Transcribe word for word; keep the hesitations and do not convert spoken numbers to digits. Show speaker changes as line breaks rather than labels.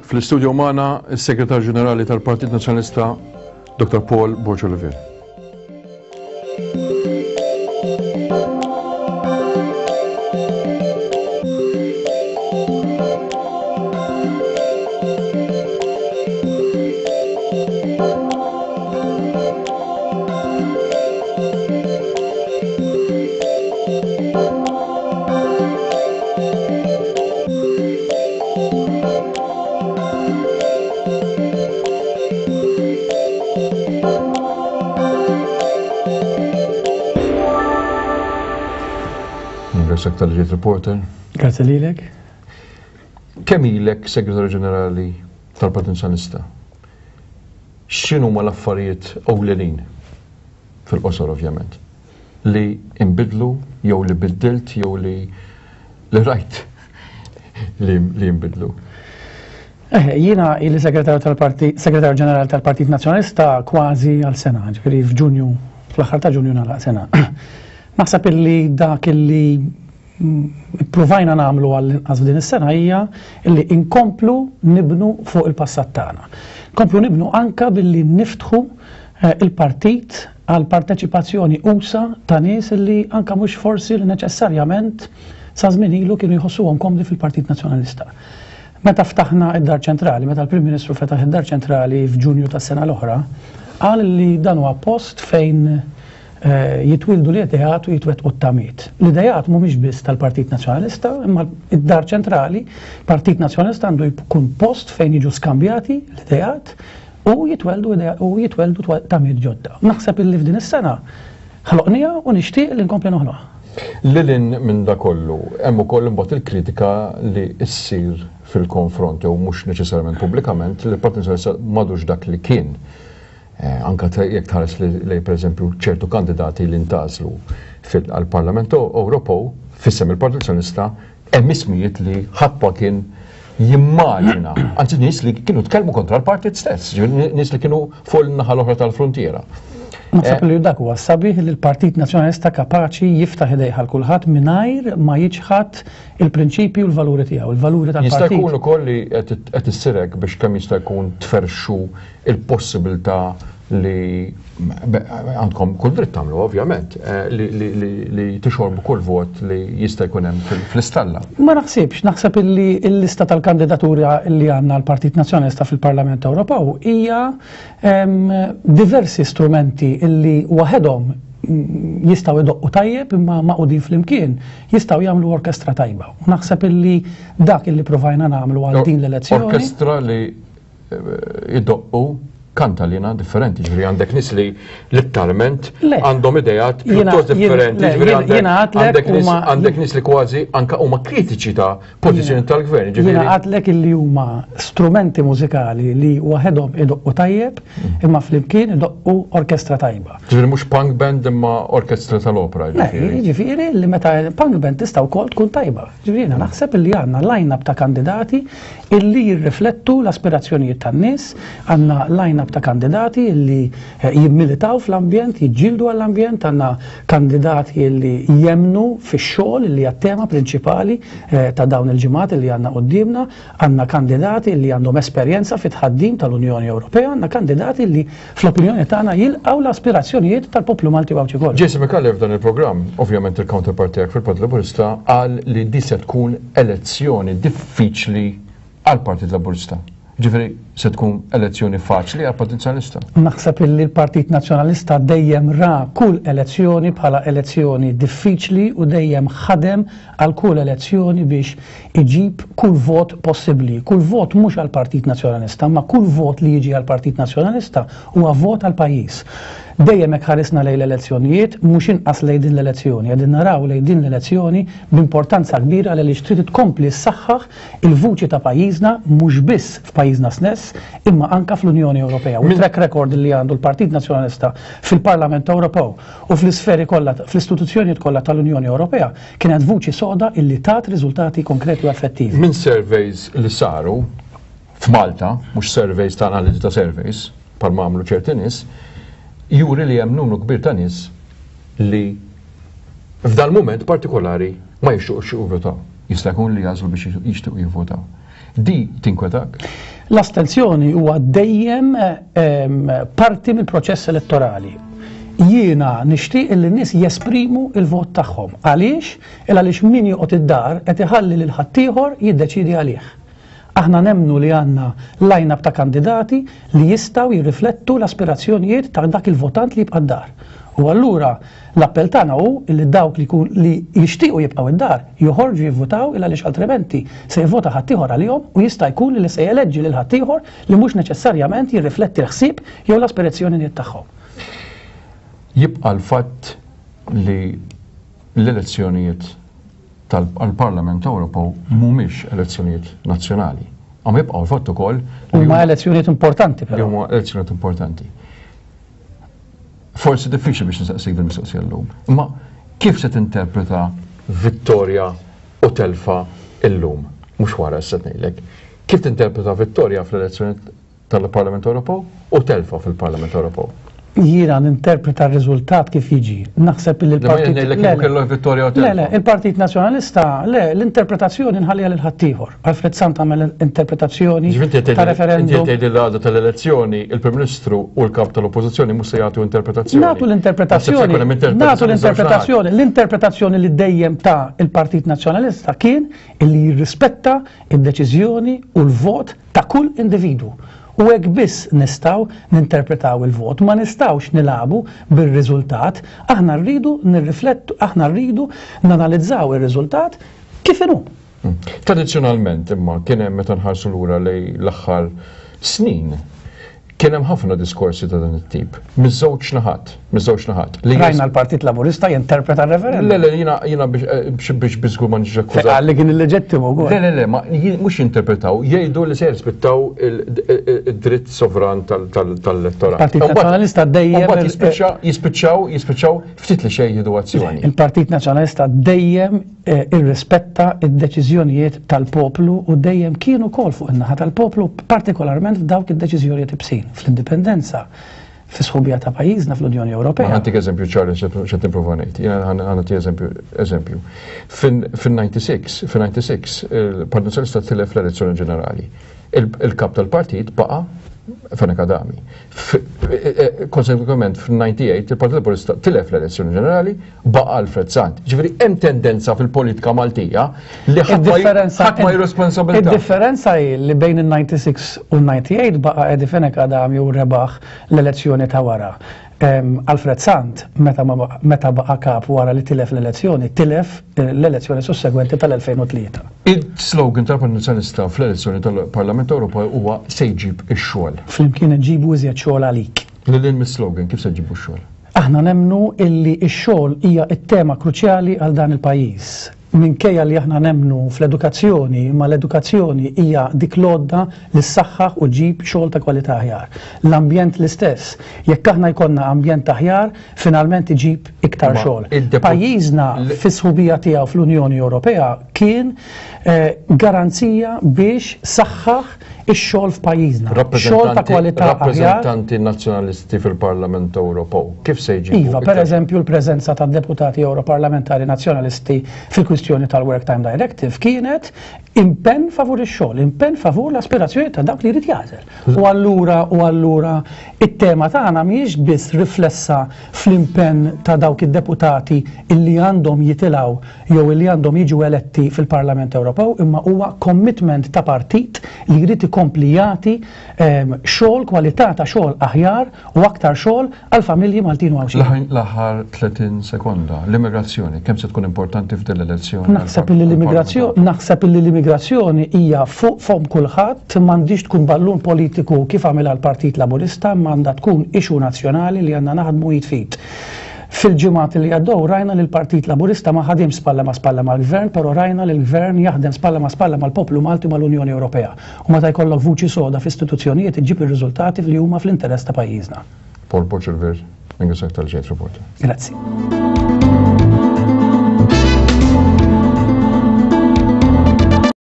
Fl-istudio magħna s-Segretarju Ġenerali tal-Partit Nazzjonalista Doctor Paul Borg Olivier. Tal-ġiet reporter.
Grazie lilek.
Kemm ilek Segretarju Ġenerali tal-Partit Nazzjonalista? X'inhuma l-affarijiet ewlenin fil-qosor ovvjament li inbidlu jew li biddilt jew li li rajt li jinbidlu?
Eh, jiena ili Segretarju tal-Partit Segretarju Ġenerali tal-Partit Nazzjonalista kważi għal sena, ġifieri f'Ġunju, fl-aħħar ta' Ġunju nagħlaq sena. Naħseb illi dak illi provajna nagħmlu għall-inqas f'din is-sena hija illi inkomplu nibnu fuq il-passat tagħna. Nkomplu nibnu anka billi niftħu il-partit għal parteċipazzjoni usa ta' nies illi anka mhux forsi li neċessarjament sa żmien ilu kienu jħossuhom komdi fil-Partit Nazzjonalista. Meta ftaħna id-Dar Ċentrali, meta l-Prim Ministru fetaħ id-Dar Ċentrali f'Ġunju tas-sena l-oħra, qal li dan huwa post fejn jitwildu l-ideat u jitwettqu t-tamiet. L-ideat mhumiex biss tal-Partit Nazzjonalista, imma id-Dar Ċentrali, Partit Nazzjonalista għandu jkun post fejn jiġu skambjati l-ideat u jitweldu u jitweldu tamiet ġodda. Naħseb illi f'din is-sena ħloqniha u nixtieq li nkompli noħloqha.
Lilin minn da kollu, hemm ukoll imbagħad il-kritika li ssir fil-konfront jew mhux neċessarjament pubblikament li l-Partit Nazzjonalista m'għadux dak li kien. Anka jekk tħares li pereżempju ċertu kandidati li ntgħażlu għall-Parlament Ewropew f'isem il-Partit Nazzjonalista hemm ismijiet li ħadd ma kien jimmaġina, anzi nies li kienu tkellmu kontra l-partit stess, nies li kienu fuq in-naħa l-oħra tal-frontiera.
Naħseb li dak huwa sabiħ li l-Partit Nazzjonalista kapaċi jiftaħ idejh għal kulħadd mingħajr ma jiċħad il-prinċipji u l-valuri tiegħu, il-valuri tal-partit.
Jista' jkun ukoll li qed issirek biex kemm jista' jkun tferxu il-possibilità li għandkom kull dritt tagħmlu ovvjament li tixorbu kull vot li jista' jkun hemm fl-istalla.
Ma naħsibx, naħseb illi l-lista tal-kandidatura li għandna l-Partit Nazzjonalista fil-Parlament Ewropew hija diversi strumenti illi waħedhom jistgħu idoqqu tajjeb imma maqudin flimkien jistgħu jagħmlu orkestra tajba. U naħseb illi dak illi provajna nagħmlu għal din l-elezzjoni.
Orkestra li idoqqu kantalina differenti, ġifieri għandek nies li letteralment għandhom ideat pjuttost differenti, ġifieri għandek nies li kważi anka huma kritiċi ta' pożizzjoni tal-gvern.
Jiena għadlek illi huma strumenti mużikali li waħedhom idoqqu tajjeb imma flimkien idoqqu orkestra tajba.
Ġifieri mhux punk band imma orkestra tal-opera.
Ġifieri li meta punk band tista' wkoll tkun tajba. Ġifieri jiena naħseb illi għandna line-up ta' kandidati illi jirriflettu l-aspirazzjonijiet tan-nies, għandna line-up ta' kandidati illi jimmilitaw fl-ambjent, jiġġieldu għall-ambjent, għandna kandidati illi jemnu fix-xogħol illi hija tema prinċipali ta' dawn il-ġimgħat illi għandna quddiemna, għandna kandidati illi għandhom esperjenza fit-tħaddim tal-Unjoni Ewropea, għandna kandidati illi fl-opinjoni tagħna jilqgħu l-aspirazzjonijiet tal-poplu Malti u Għawdxi kollu.
Jason Micallef f'dan il-programm, ovvjament il-counterpart tiegħek fil-Partit Laburista, qal li di se tkun elezzjoni diffiċli għall-Partit Laburista. Ġifieri se tkun elezzjoni faċli għall-Partit Nazzjonalista?
Naħseb illi l-Partit Nazzjonalista dejjem ra kull elezzjoni bħala elezzjoni diffiċli u dejjem ħadem għal kull elezzjoni biex iġib kull vot possibbli. Kull vot mhux għall-Partit Nazzjonalista, ma kull vot li jiġi għall-Partit Nazzjonalista huwa vot għall-pajjiż. Dejjem hekk ħarisna lejn l-elezzjonijiet, mhux inqas lejn din l-elezzjoni. Qegħdin naraw lejn din l-elezzjoni b'importanza kbira għaliex trid tkompli ssaħħaħ il-vuċi ta' pajjiżna mhux biss f'pajjiżna stess, imma anka fl-Unjoni Ewropea. U track record li għandu l-Partit Nazzjonalista fil-Parlament Ewropew u fl-isferi kollha, fl-istituzzjonijiet kollha tal-Unjoni Ewropea kienet vuċi soda illi tat riżultati konkreti u effettivi.
Minn surveys li saru f'Malta, mhux surveys ta' analiżi ta' surveys, bħalma għamlu ċerti nies, juri li hemm numru kbir ta' nies li f'dal mument partikolari ma jixtiequx jivvotaw. Jista' jkun li jagħżlu biex jixtiequ jivvotaw. Di tinkwetak?
L-astenzjoni huwa dejjem parti mill-proċess elettorali. Jiena nixtieq li n-nies jesprimu il-vot tagħhom. Għaliex? Il għaliex min joqgħod id-dar qed iħalli lil ħaddieħor jiddeċiedi għalih. Aħna nemmnu li għandna line-up ta' kandidati li jistgħu jirriflettu l-aspirazzjonijiet ta' dak il-votant li jibqa' d-dar. U allura l-appell tagħna hu li dawk li li jixtiequ jibqgħu id-dar joħorġu jivvutaw, il għaliex altrimenti se jivvota ħaddieħor għalihom u jista' jkun li se jeleġġi lil ħaddieħor li mhux neċessarjament jirrifletti l-ħsieb jew l-aspirazzjonijiet tagħhom.
Jibqa' l-fatt li l-elezzjonijiet tal-Parlament Ewropew mhumiex elezzjonijiet nazzjonali. Għam jibqgħu l-fatt ukoll
huma elezzjonijiet importanti però.
Huma elezzjonijiet importanti. Forsi diffiċli biex nistaqsik dil-mistoqsija llum. Imma kif se tinterpreta vittorja u telfa illum? Mhux wara se ngħidlek. Kif tinterpreta vittorja fl-elezzjoni tal-Parlament Ewropew u telfa fil-Parlament Ewropew?
Jiena ninterpreta r-riżultat kif jiġi. Naħseb li
l-Partit Le,
le, il-Partit Nazzjonalista, le, l-interpretazzjoni nħalliha lil ħaddieħor. Alfred Sant għamel interpretazzjoni ta' referendum.
Inti tgħid l-għada tal-elezzjoni, il-Prim Ministru u l-Kap tal-Oppożizzjoni mhux se jagħtu interpretazzjoni.
Nagħtu l-interpretazzjoni. Nagħtu l-interpretazzjoni. L-interpretazzjoni li dejjem ta' il-Partit Nazzjonalista kien illi jirrispetta id-deċiżjoni u l-vot ta' kull individwu. U hekk biss nistgħu ninterpretaw il-vot, ma nistgħux nilagħbu bir-riżultat, aħna rridu nirriflettu, aħna rridu nanalizzaw ir-riżultat kif inhu.
Tradizzjonalment imma kien hemm meta nħarsu lura lejn l-aħħar snin, kien hemm ħafna diskorsi ta' dan it-tip. Miż-żewġ naħat, miż-żewġ naħat.
Rajna l-Partit Laburista jinterpreta r-referendum.
Le, le, jiena jiena biex biex biżgur ma niġix akkużat.
Qal li kien illeġittimu wkoll.
Le, le, le, ma mhux jinterpretaw, jgħidu li se jirrispettaw id-dritt sovran tal-elettorat.
Il-Partit Nazzjonalista dejjem
jispiċċaw jispiċċaw jispiċċaw ftit li xejn jieħdu azzjoni.
Il-Partit Nazzjonalista dejjem irrispetta id-deċiżjonijiet tal-poplu u dejjem kienu wkoll fuq in-naħa tal-poplu, partikolarment f'dawk id-deċiżjonijiet ibsin, fl-indipendenza, fis-sħubija ta' pajjiżna fl-Unjoni Ewropea.
Ħantik eżempju ċar x'qed nipprova ngħid. Jiena ħanti eżempju eżempju. Fin-ninety-six, fin-ninety-six il-Partit Nazzjonalista tilef l-elezzjoni ġenerali. Il-kap tal-partit baqa' Fenech Adami. Konsekwentement fin-ninety-eight il-Partit Laburista tilef l-elezzjoni ġenerali, baqa' Alfred Sant. Ġifieri hemm tendenza fil-politika Maltija li ħadd ma jirresponsabilità.
Id-differenza hi li bejn in-ninety-six u n-ninety-eight baqa' Eddie Fenech Adami u rebaħ l-elezzjoni ta' wara. Alfred Sant meta baqa' kap wara li tilef l-elezzjoni, tilef l-elezzjoni sussegwenti tal-elfejn u tlieta.
Il-slogan tal-Partit Nazzjonalista fl-elezzjoni tal-Parlament Ewropew huwa se jġib ix-xogħol.
Flimkien nġibu iżjed xogħol għalik.
Lil hinn mis-slogan kif se ġibu x-xogħol?
Aħna nemmnu illi x-xogħol hija t-tema kruċjali għal dan il-pajjiż. Minkejja li aħna nemmnu fl-edukazzjoni, imma l-edukazzjoni hija dik l-għodda li ssaħħaħ u ġib xogħol ta' kwalità aħjar. L-ambjent l-istess. Jekk aħna jkollna ambjent aħjar, finalment iġib iktar xogħol. Pajjiżna fis-sħubija tiegħu fl-Unjoni Ewropea kien garanzija biex saħħaħ ix-xogħol f'pajjiżna. Xogħol ta' kwalità aħjar.
Rappreżentanti nazzjonalisti fil-Parlament Ewropew, kif se jġibu?
Iva, pereżempju l-preżenza ta' deputati Ewroparlamentari nazzjonalisti fil-kwistjoni tal-Work Time Directive kienet impenn favur ix-xogħol, impenn favur l-aspirazzjoni ta' dak li jrid jagħżel. U allura u allura it-tema tagħna mhijiex biss riflessa fl-impenn ta' dawk id-deputati illi għandhom jitilgħu jew illi għandhom jiġu eletti fil-Parlament Ewropew, imma huwa commitment ta' partit li jrid ikompli jagħti xogħol, kwalità ta' xogħol aħjar u aktar xogħol għal familji Maltin u Għawdxin.
L-aħħar tletin sekonda, l-immigrazzjoni kemm se tkun importanti f'din l-elezzjoni?
Naħseb illi l-immigrazzjoni, naħseb illi l-immigrazzjoni hija fuq fom kulħadd, m'għandix tkun ballun politiku kif għamilha l-Partit Laburista, m'għandha tkun issue nazzjonali li għandna naħdmu jitfit. Fil-ġimgħat li għaddew rajna li l-Partit Laburista ma ħadimx spalla ma' spalla mal-Gvern, però rajna li l-Gvern jaħdem spalla ma' spalla mal-poplu Malti u mal-Unjoni Ewropea. U meta jkollok vuċi soda f'istituzzjonijiet iġġib ir-riżultati li huma fl-interess ta' pajjiżna.
Paul Borg Olivier, ringrazzjak tal-ġejt reporter.
Grazzi.